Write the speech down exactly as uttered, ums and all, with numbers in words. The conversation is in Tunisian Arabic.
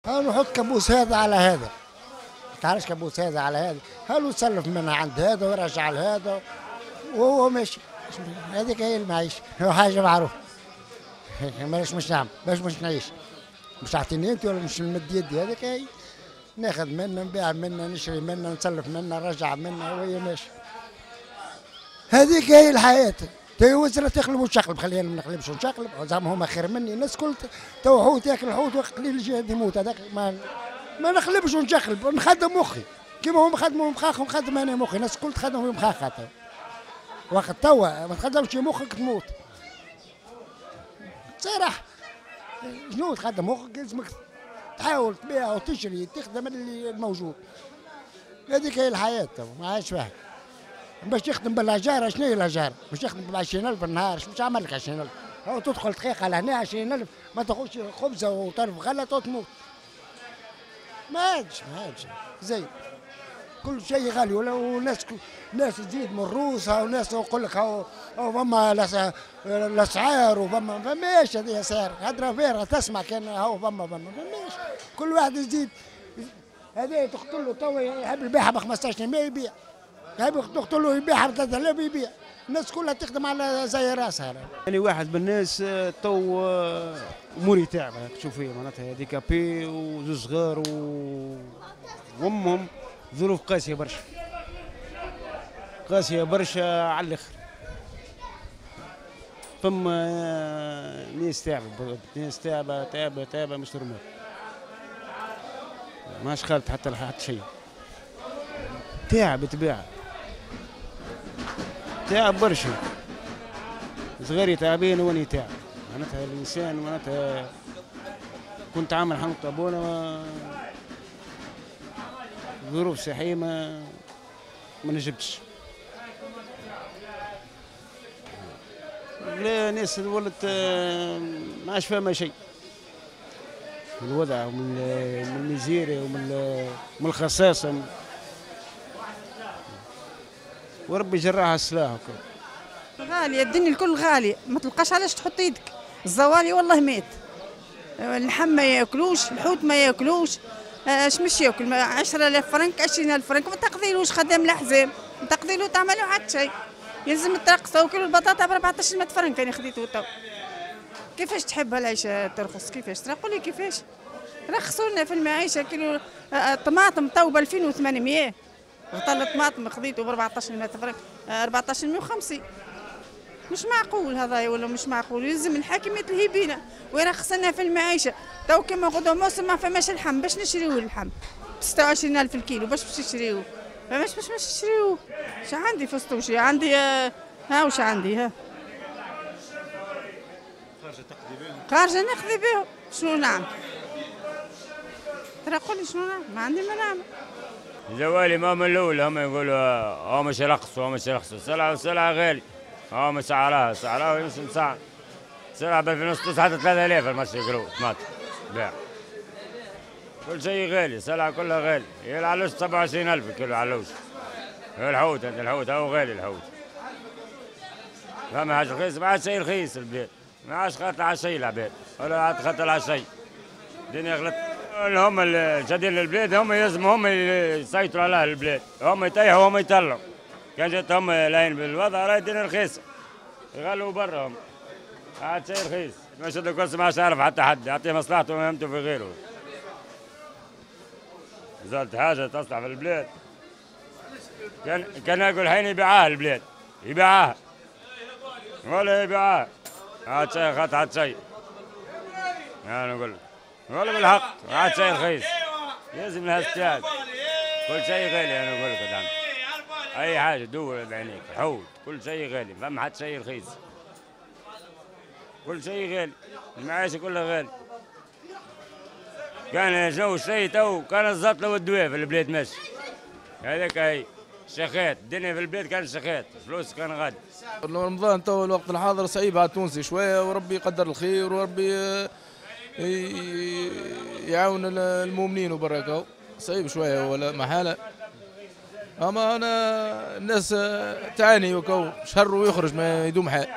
انا نحط كابوس هذا على هذا، تعرفش كابوس هذا على هذا، هل يسلف منها عند هذا ويرجع لهذا وهو ماشي. هذيك هي المعيشة، حاجة معروفة. ماش مش نعمل، باش مش نعيش، مش تعطيني انت ولا مش نمد يدي، هذيك هي. ناخذ منه، نبيع منه، نشري منه، نسلف منه، نرجع منه وهي ماشي. هذيك هي الحياة. تي وزرة تقلب وتشقلب، خلينا ما نقلبش ونشقلب، زعما هما خير مني، الناس كل تو حوت ياكل حوت وقليل الجهد يموت، هذاك ما ما نقلبش ونشقلب، نخدم مخي، كيما هما خدموا مخاخهم خدم انا مخي، الناس الكل تخدم مخاخها تو. وقت توا ما تخدمش مخك تموت. صراحة شنو تخدم مخك؟ لازمك تحاول تبيع وتشري، تخدم اللي الموجود. هذيك هي الحياة تو، ما عادش فيها. باش تخدم بالأجارة، شنو هي الأجارة؟ باش تخدم ب عشرين ألف في النهار، باش تعمل لك عشرين ألف؟ أو تدخل دقيقة لهنا عشرين ألف، ما تاخذش خبزة وطرف غلة وتموت. ما عادش ما عادش زين. كل شيء غالي، وناس ناس تزيد من روسها، وناس يقول لك هاو فما الأسعار وفما فماش هذه أسعار، هضرة فارغة تسمع كان هاو فما فما فماش، كل واحد يزيد. هذا تقتل له تو يحب يبيعها ب خمسطاش مية يبيع. يحب تقتل له يبيعها ب ثلاثة آلاف يبيع، الناس كلها تخدم على زي راسها. يعني واحد من الناس تو اموري تعبه تشوف فيها، معناتها handicapé وزوز صغار و... وامهم ظروف قاسية برشا، قاسية برشا على الاخر. فما ناس تعبه، ناس تعبه تعبه تعبه مش normal، ماش خالت حتى حتى شيء. تعب تباع، تعب برشا، صغاري تعبين واني تعب. معناتها الانسان معناتها كنت عامل حنوت طابونه، ظروف صحية ما ما نجبتش. لا ناس ولت ما عادش فاهمه شيء من الوضع ومن من ال misère ومن من الخصاصه، وربي جراها السلاح. غالية الدنيا الكل غالية، ما تلقاش علاش تحط يدك. الزوالي والله مات، اللحم ما ياكلوش، الحوت ما ياكلوش، اش مش ياكل؟ عشرة آلاف فرنك، عشرين ألف فرنك ما تقضيلوش خدام الأحزاب، ما تقضيلو تعملو حتى شيء. يلزم الترقص وكيلو البطاطا ب أربعطاش مية فرنك انا خديته تو. كيفاش تحب العيشة ترخص؟ كيفاش؟ ترى قولي كيفاش؟ رخصوا لنا في المعيشة. كيلو الطماطم تو ب ألفين وثمانمية، غطا الطماطم خذيته ب أربعطاش مية فرنك، أربعطاش مية وخمسين. مش معقول هذا ولا مش معقول. يلزم الحاكم يتلهي بينا ويرخص لنا في المعيشة. تو كيما غدوه موسم ما فماش اللحم باش نشريوه، اللحم ب ستة وعشرين ألف الكيلو باش باش نشريوه، فماش باش باش نشريوه. اش عندي فستوشي عندي، ها وش عندي، ها خارجه تقضي بهم، خارجه نقضي بهم. شنو نعمل؟ ترى قولي شنو نعمل؟ ما عندي ما نعمل. زوالي ما من الاول هم يقولوا اه مش رخصوا، مش رخصوا، السلعة السلعة غالي، اه مش سعرها سعرها مش مسعر، سلعه ب ألفين وستة حتى ثلاثة آلاف المشي يقولوا طماطم بيع. كل شيء غالي، السلعة كلها غالي، هي العلوش سبعة وعشرين ألف كيلو علوش. الحوت الحوت هو غالي الحوت. فما حاجة رخيص، ما عادش شيء رخيص البلاد، ما عادش خاطر على شيء العباد، ولا عاد خاطر على شيء. الدنيا غلط. هم الجديد للبلاد هم لازم هم يسيطروا على البلاد، هم يطيحوا هم يطلعوا. كان جات هم لاين بالوضع راهي الدنيا رخيصة. يغلوا برا هم. عاد شيء رخيص، ما شد الكرسي ما عادش يعرف حتى حد، يعطيه مصلحته ومهمته في غيره. زالت حاجة تصلح في البلاد. كان كان ياكل حين يبيعها البلاد، يبيعها. ولا يبيعها. عاد شيء خاطر عاد شيء. أنا نقول لك. والله بالحق عاد شيء رخيص. لازم لها استعاد. كل شيء غالي أنا نقول لك قدام. أي حاجة دور بعينيك، حوت، كل شيء غالي، فما حد شيء رخيص. كل شيء غالي، المعيشة كلها غالي. كان جو شيء تو كان الزطلة والدواء في البلاد ماشي. هذاك هي شخات، الدنيا في البلاد كان شخات، فلوس كان غادي. رمضان تو الوقت الحاضر صعيب على التونسي شوية، وربي يقدر الخير وربي يعاون المؤمنين وبركة. صعيب شوية ولا محالة، اما انا الناس تعاني وكو شهر ويخرج ما يدوم حال.